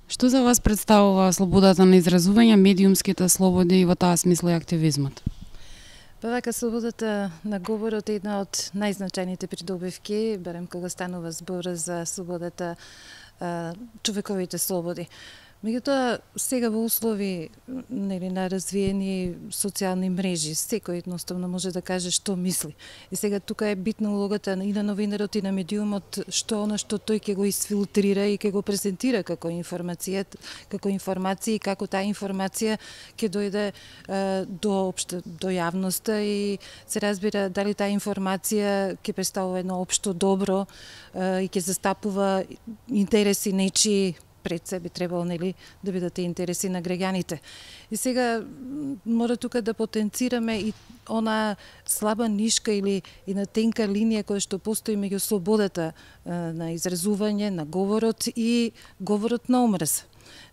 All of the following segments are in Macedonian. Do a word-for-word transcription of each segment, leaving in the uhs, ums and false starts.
Што за вас представува слободата на изразување, медиумските слободи и во таа смисла и активизмот? Па вака, слободата на говорот е една од најзначајните придобивки, барем кога станува збор за слободата, човековите слободи. Меѓутоа, сега во услови нели, на развиени социјални мрежи, секој едноставно може да каже што мисли. И сега тука е битна улогата и на новинарот и на медиумот, што она што тој ќе го исфилтрира и ќе го презентира како информација, како информација и како таа информација ќе дојде е, до општа, до јавноста и се разбира дали таа информација ќе представува едно општо добро е, и ќе застапува интереси нечии пред себе требало нели да бидат интереси на граѓаните. И сега мора тука да потенцираме и она слаба нишка или и на тенка линија која што постои меѓу слободата на изразување, на говорот и говорот на омраз.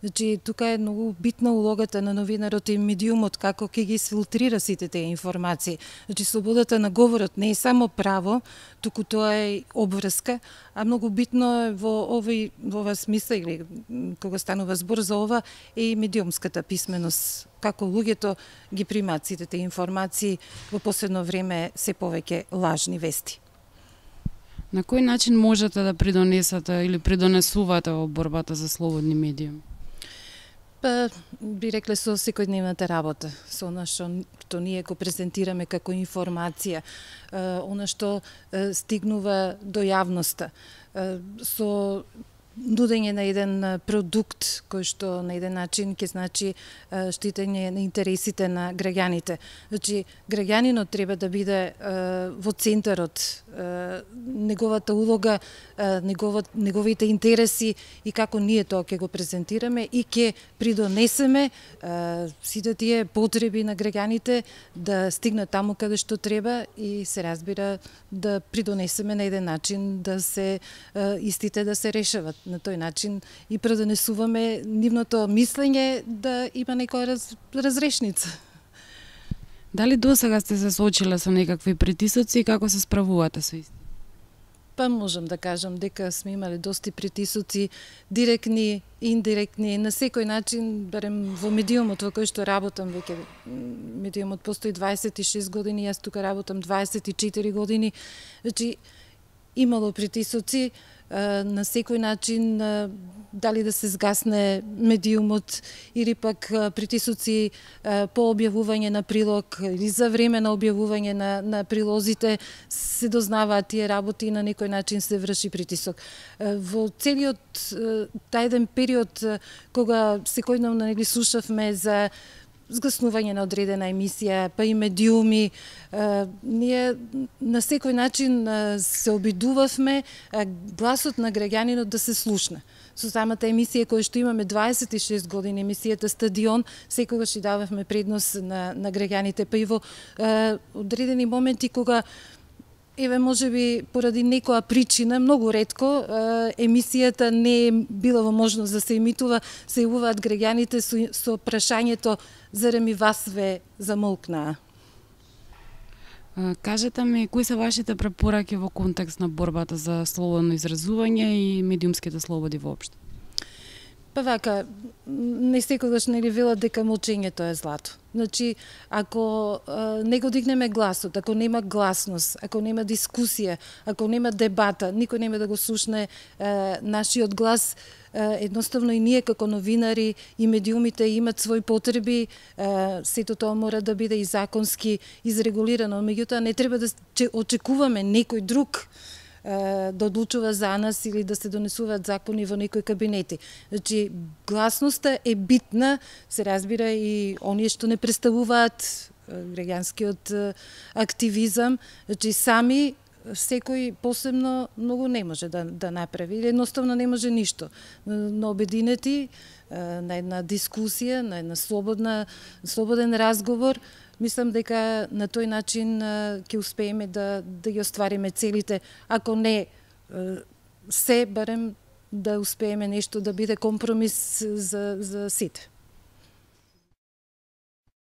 Значи, тука е многу битна улогата на новинарот и медиумот, како ќе ги сфилтрира сите тие информации. Значи, слободата на говорот не е само право, туку тоа е обврска, а многу битно е во овој во ова смисла или кога станува збор за ова е и медиумската писменост, како луѓето ги примаат сите тие информации во последно време се повеќе лажни вести. На кој начин можете да придонесете или придонесувате во борбата за слободни медиуми? Па, би рекле со секојдневната работа, со она што, што ние го презентираме како информација, она што стигнува до јавноста, со нудење на еден продукт кој што на еден начин ќе значи штитење на интересите на граѓаните. Значи, граѓанинот треба да биде во центарот, неговата улога, негова, неговите интереси и како ние тоа ќе го презентираме и ќе придонесеме сите тие потреби на граѓаните да стигнат таму каде што треба и се разбира да придонесеме на еден начин да се истите да се решават. На тој начин и придонесуваме нивното мислење да има некоја раз, разрешница. Дали досега сте се соочиле со некакви притисоци и како се справувате со исти? Па можам да кажам дека сме имале доста притисоци, директни, индиректни, на секој начин, барем во медиумот во кој што работам веќе, медиумот постои дваесет и шест години, јас тука работам дваесет и четири години, значи имало притисоци, на секој начин дали да се згасне медиумот или пак притисоци по објавување на прилог или за време на објавување на, на прилозите се дознаваат тие работи и на некој начин се врши притисок. Во целиот тај еден период кога секојдневно нели слушавме за згаснување на одредена емисија, па и медиуми, ние на секој начин се обидувавме гласот на граѓанинот да се слушне. Со самата емисија која што имаме дваесет и шест години, емисијата Стадион, секогаш и дававме предност на, на граѓаните, па и во одредени моменти кога еве можеби поради некоја причина, многу ретко, емисијата не е била во можност да се емитува, се јавуваат граѓаните со, со прашањето зарем и вас ве замолкнаа. Кажете ми, кои се вашите препораки во контекст на борбата за слободно изразување и медиумските слободи воопшто? Па вака, не секогаш нели велат дека молчењето е злато. Значи, ако а, не го дигнеме гласот, ако нема гласност, ако нема дискусија, ако нема дебата, никој нема да го слушне а, нашиот глас, а, едноставно и ние како новинари и медиумите имат своји потреби, а, сето тоа мора да биде и законски изрегулирано, меѓутоа не треба да очекуваме некој друг да одлучува за нас или да се донесуваат закони во некои кабинети. Значи, гласноста е битна, се разбира и оние што не представуваат граѓанскиот активизам, значи сами секој посебно многу не може да, да направи, или едноставно не може ништо. Но обединети на една дискусија, на една слободна, слободен разговор, мислам дека на тој начин ќе успееме да, да ги оствариме целите, ако не се, барем да успееме нешто да биде компромис за, за сите.